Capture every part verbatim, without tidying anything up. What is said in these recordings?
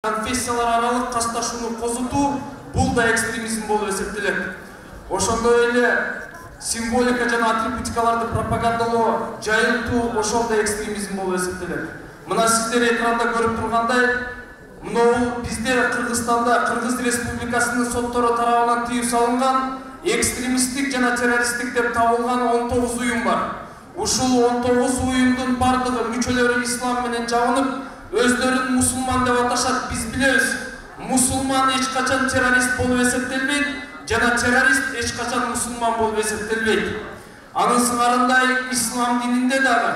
конфессиялар аралык касташууну козутуу бул да экстремизм болуп эсептелет. Ошондой эле символика жана атрибутикаларды пропагандалоо, жайылтуу ошол да экстремизм болуп эсептелет. Мына сиздер экранда көрүп тургандай, мынау бизде Кыргызстанда Кыргыз Республикасынын соттору тарабынан тыюу салынган экстремисттик жана террористтик деп табылган он тогуз уюм бар. Ушул он тогуз уюмдун бардыгы мүчөлөрү ислам менен жабынып, өздөрүн мусулман деп аташат. Биз билебиз, мусулман эч качан террорист болуп эсептелбейт, жана террорист эч качан мусулман болуп эсептелбейт. Анын сыңарындай ислам дининде дагы,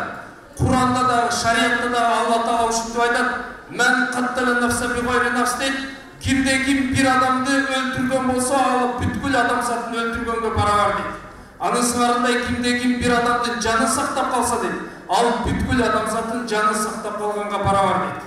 Куранда дагы, шариятта дагы Алла Таала ушинтип айтат: "Мен каттала нафса би гайри нафс" дейт. Кимде ким бир адамды өлтүргөн болсо, ал бүткүл адамзатын өлтүргөнгө барабар дейт. Анын сыңарындай кимде ким бир адамдын жанын сактап калса дейт, ал бүткүл адамзатын жанын сактап калганга барабар дейт.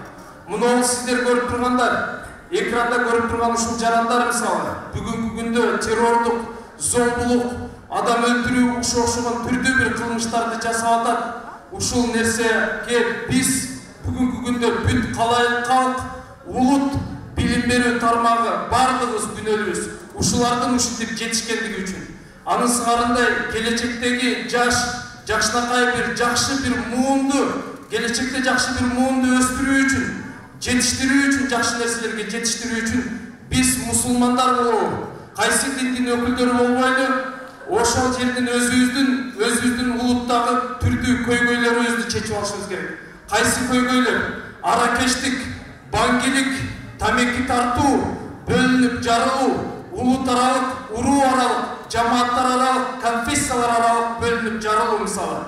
Муну сиздер көрүп тургандар, экранда көрүп турган ушул жарандар мисалы, бүгүнкү күндө террордук, зомбулук, адам өлтүрүү ушул окшогон түрдүү бир кылмыштарды жасап атат. Ушул нерсеге биз бүгүнкү күндө бүт калайык калк, улут, билим берүү тармагы бардыгыбыз күнөөлүүбүз ушулардын ушинтип жетишкендиги үчүн. Анын сыңарындай келечектеги жаш, жакшынакай бир жакшы бир муунду, келечекте жакшы бир муунду өстүрүү үчүн, жетиштирүү үчүн, жакшы нерселерге жетиштирүү үчүн биз мусулмандар болобу, кайсы диндин өкүлдөрү болбойлу, ошол жердин өзүбүздүн, өзүбүздүн улуттагы түрдүү көйгөйлөрүбүздү чечип алышыбыз керек. Кайсы көйгөйлөр? Аракештик, баңгилик, тамеки тартуу, бөлүнүп жарылуу, улут аралык, уруу аралык, жамааттар аралык, конфессиялар аралык бөлүнүп жарылуу мисалы.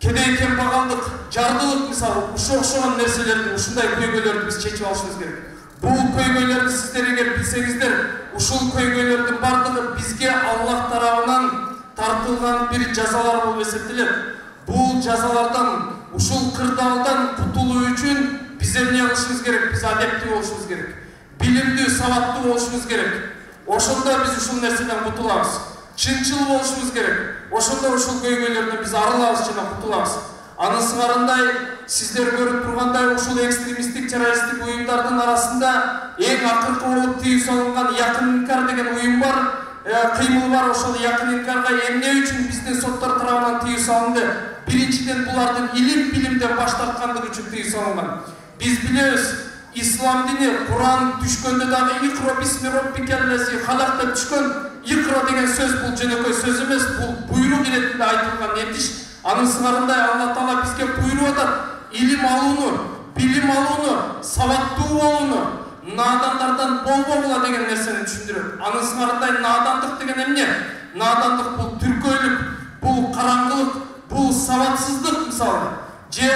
Кедей кембагалдык, жардылык мисалы, ушул окшогон нерселерди, ушундай көйгөйлөрдү биз чечип алышыбыз керек. Бул көйгөйлөрдү сиздер эгер билсеңиздер, ушул көйгөйлөрдүн бардыгы бизге Аллах тарабынан тартылган бир жазалар болуп эсептелет. Бул жазалардан, ушул кырдаалдан кутулуу үчүн биз эмне кылышыбыз керек? Биз адептүү болушубуз керек. Билимдүү, сабаттуу болушубуз керек. Ошондо биз ушул нерседен кутулабыз. Чынчыл болушубуз керек. Ошондо ушул көйгөйлөрдөн биз арылабыз жана кутулабыз. Анын сыңарындай сиздер көрүп тургандай ушул экстремисттик, террористтик уюмдардын арасында эң акыркы болуп тыюу салынган Якын инкар деген уюм бар, кыймыл бар. Ошол Якын инкарга эмне үчүн биздин соттор тарабынан тыюу салынды? Биринчиден булардын илим билимден баш тарткандыгы үчүн тыюу салынган. Биз билебиз, ислам дини Куран түшкөндө дагы икро бисми роббикеллези халак деп түшкөн. Икро деген сөз бул жөнөкөй сөз эмес, бул буйрук иретинде айтылган этиш. Анын сыңарындай Алла Таала бизге буйруп атат: илим алууну, билим алууну, сабаттуу болууну, наадандардан болбогула деген нерсени түшүндүрөт. Анын сыңарындай наадандык деген эмне? Наадандык бул түркөйлүк, бул караңгылык, бул сабатсыздык мисалы. Же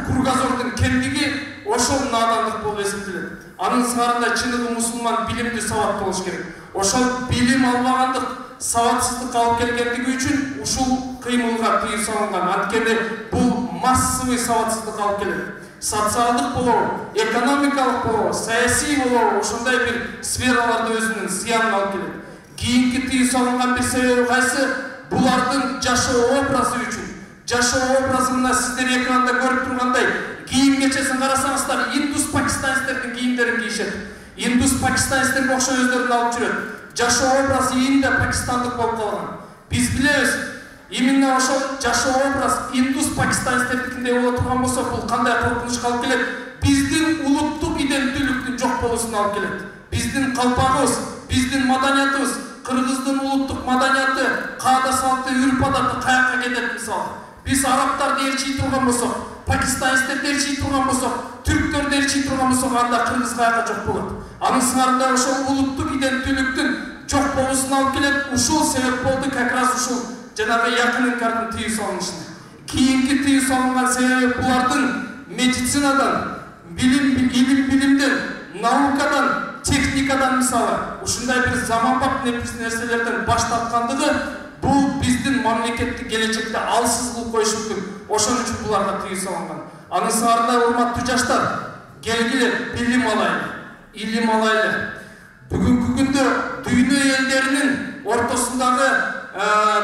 кургазордун кемдиги ошол наадандык болуп эсептелет. Анын сыңарында чыныгы мусулман билимдүү, сабаттуу болуш керек. Ошол билим албагандык, сабатсыздык алып келгендиги үчүн ушул кыймылга тыюу салынган. Анткени бул массовый сабатсыздык алып келет. Социалдык болобу, экономикалык болобу, саясий болобу, ошондой бир сфераларда өзүнүн зыянын алып келет. Кийинки тыюу салынган бир себеби кайсы? Булардын жашоо образы үчүн. Жашоо образы мына сиздер экранда көрүп тургандай, кийим кечесин карасаңыздар, индус пакистанецтердин кийимдерин кийишет. Индус пакистанецтерге окшой өздөрүн алып жүрөт. Жашоо образы инде пакистандык болуп калган. Биз билебиз, именно ошол жашоо образ индус пакистанецтердикиндей боло турган болсо, бул кандай коркунучка алып келет? Биздин улуттук иденттүүлүктүн жок болуусуна алып келет. Биздин калпагыбыз, биздин маданиятыбыз, кыргыздын улуттук маданияты, каада салты, үрп адаты каяка кетет мисалы. Биз арабтарды ээрчий турган болсок, пакистанецтерди ээрчий турган болсок, түрктөрдү ээрчий турган болсок, анда кыргыз каяка жок болот. Анын сыңарында ошол улуттук иденттүүлүктүн жок болуусуна алып келет. Ушул себеп болду как раз ушул жанагы Якын инкардын тыюу салынышына. Кийинки тыюу салынган себеби булардын медицинадан, билим, илим билимден, наукадан, техникадан мисалы ушундай бир заманбап нерселерден баш тарткандыгы бул биздин мамлекетти келечекте алсыз кылып коюшу мүмкүн. Ошон үчүн буларга тыюу салынган. Анын сыңарында урматтуу жаштар, келгиле билим алайлы, илим алайлы. Бүгүнкү күндө дүйнө элдеринин ортосундагы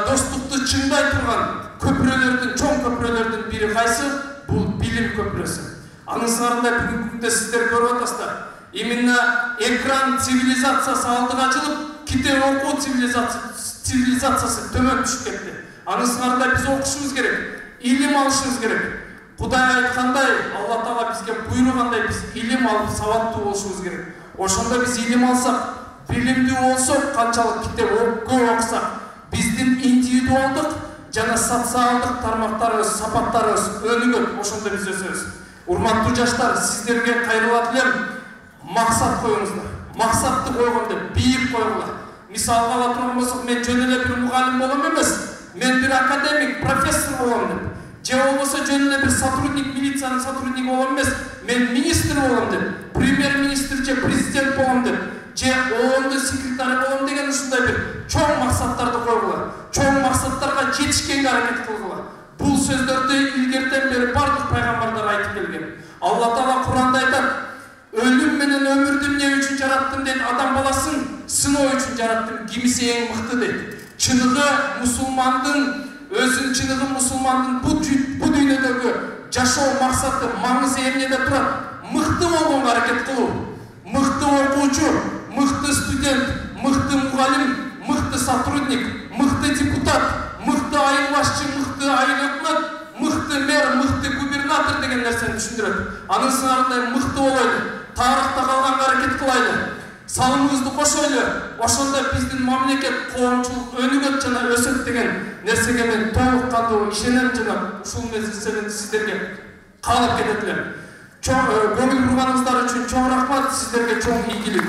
достукту чыңдай турган көпүрөлөрдүн, чоң көпүрөлөрдүн бири кайсы? Бул билим көпүрөсү. Анын сырында бүгүнкү күндө сиздер көрүп атасыздар. Именно экран цивилизациясы алдыга ачылып, китеп окуу цивилизациясы төмөн түшүп кетти. Анын сырында биз окушубуз керек, илим алышыбыз керек. Кудай айткандай, Алла Таала бизге буйругандай биз илим алып сабаттуу болушубуз керек. Ошондо биз илим алсак, билимдүү болсок, канчалык китеп көп окусак, биздин индивидуалдык жана социалдык тармактарыбыз, сапаттарыбыз өнүгөт. Ошондо биз өсөбүз. Урматтуу жаштар, сиздерге кайрылат элем, максат коюңуздар. Максатты койгондо бийик койгула. Мисалга ала турган болсок, мен жөн эле бир мугалим болом эмес, мен бир академик, профессор болом деп. Же болбосо жөн эле бир сотрудник, милициянын сотрудниги болом эмес, мен министр болом деп, премьер-министр же президент болом деп, же оондун секретары болом деген ушундай бир чоң максаттарды койгула. Чоң максаттарга жетишкенге аракет кылгыла. Бул сөздөрдү илгертен бери бардык пайгамбардар айтып келген. Алла Таала Куранда айтат: "Өлүм менен өмүрдү эмне үчүн жараттым" дейт, адам баласын сыноо үчүн жараттым, кимиси эң мыкты дейт. Чыныгы мусулмандын өзүнүн чыныгы мусулмандын бу бу дүйнөдөгү жашоо максаты, маңызы эмнеде турат? Мыкты болгонго аракет кылуу. Мыкты окуучу, мыкты студент, мыкты мугалим, мыкты сотрудник, мыкты депутат, мыкты айыл башчы, мыкты айыл өкмөт, мыкты мэр, мыкты губернатор деген нерсени түшүндүрөт. Анын сыңарындай мыкты болойлу, тарыхта калганга аракет кылайлы, салымыбызды кошойлу. Ошондо биздин мамлекет, коомчулук өнүгөт жана өсөт деген нерсеге мен толук кандуу ишенем жана ушул мезгилде сиздерге каалап кетет элем. Көңүл бурганыңыздар үчүн чоң рахмат, сиздерге чоң ийгилик.